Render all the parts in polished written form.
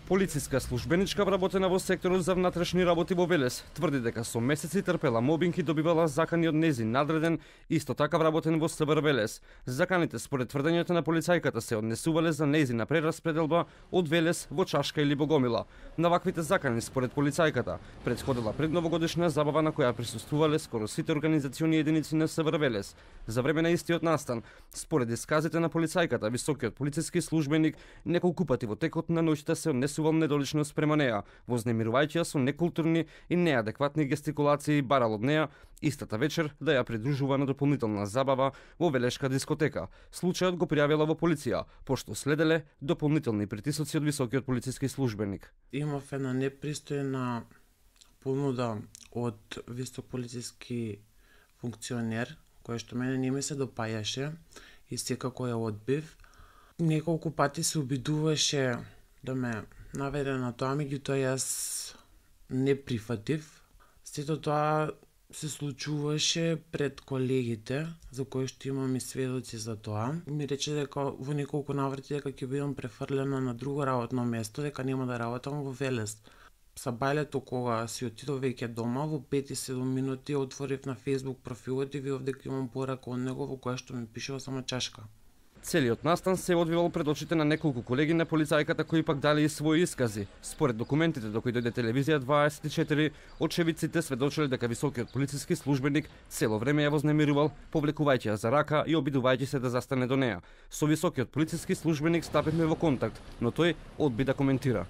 Полициска службеничка вработена во секторот за внатрешни работи во Велес тврди дека со месеци трпела мобинг и добивала закани од незин надреден, исто така вработен во СВР Велес. Заканите според тврдењето на полицајката се однесувале за незина прераспределба од Велес во Чашка или Богомила. На ваквите закани според полицајката претходила предновогодишна забава на која присуствувале скоро сите организациони единици на СВР Велес. За време на истиот настан, според исказите на полицајката, високиот полициски службеник неколку пати во текот на ноќта се однесувал недолично спрема неа, вознемирувајќи ја со некултурни и неадекватни гестикулации, барал од неа истата вечер да ја придружува на дополнителна забава во велешка дискотека. Случајот го пријавила во полиција, пошто следеле дополнителни притисоци од високиот полициски службеник. Имав една непристојна понуда од висок полициски функционер, која што мене не ми се допаѓаше и секако ја одбив. Неколку пати се обидуваше да ме наведе на тоа, меѓутоа јас не прифатив. Сето тоа се случуваше пред колегите, за кои што имам и сведоци за тоа. Ми рече дека во неколку наврати дека ќе бидам префрлена на друго работно место, дека нема да работам во Велес. Сабајлето кога си отидов веќе дома, во 5-7 минути отворив на Facebook профилот и видов дека имам порака од него во која што ми пишува само Чашка. Целиот настан се одвивал пред очите на неколку колеги на полицајката кои пак дали и своји искази. Според документите до кои дојде телевизија 24, очевидците сведочеле дека високиот полициски службеник цело време ја вознемирувал, повлекувајќи ја за рака и обидувајќи се да застане до неа. Со високиот полициски службеник стапивме во контакт, но тој одби да коментира.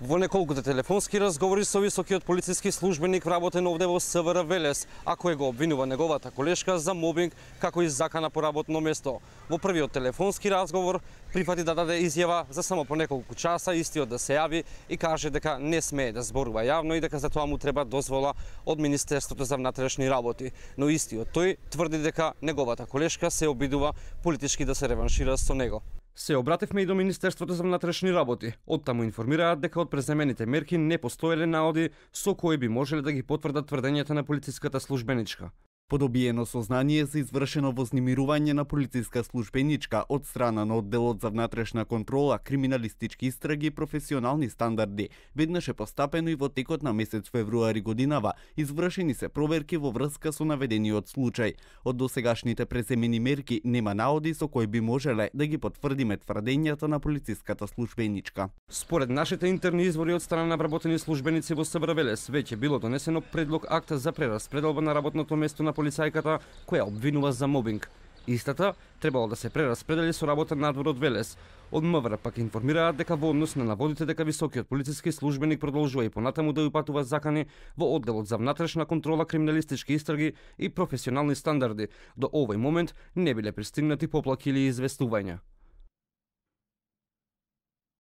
Во неколкуте телефонски разговори со високиот полициски службеник вработен овде во СВР Велес, а кој го обвинува неговата колешка за мобинг како и закана по работно место. Во првиот телефонски разговор прифати да даде изјава за само по неколку часа, истиот да се јави и каже дека не смее да зборува јавно и дека за тоа му треба дозвола од Министерството за внатрешни работи. Но истиот тој тврди дека неговата колешка се обидува политички да се реваншира со него. Се обративме и до Министерството за внатрешни работи. Оттаму информираат дека од преземените мерки не постоеле наоди со кои би можеле да ги потврдат тврдењата на полициската службеничка. По добиено сознание за извршено вознемирување на полициска службеничка од страна на одделот за внатрешна контрола, криминалистички истраги и професионални стандарди, веднаш е постапено и во текот на месец февруари годинава извршени се проверки во врска со наведениот случај. Од досегашните преземени мерки нема наоди со кои би можеле да ги потврдиме тврдењата на полициската службеничка. Според нашите интерни извори од страна на вработени службеници во СВР Велес, веќе било донесено предлог акта за прераспределба на работното место на полицајката која обвинува за мобинг. Истата требало да се прераспредели со работа надвор од Велес. Од МВР пак информираат дека во однос на наводите дека високиот полициски службеник продолжува и понатаму да упатува закани во одделот за внатрешна контрола, криминалистички истраги и професионални стандарди, до овој момент не биле пристигнати поплаки или известувања.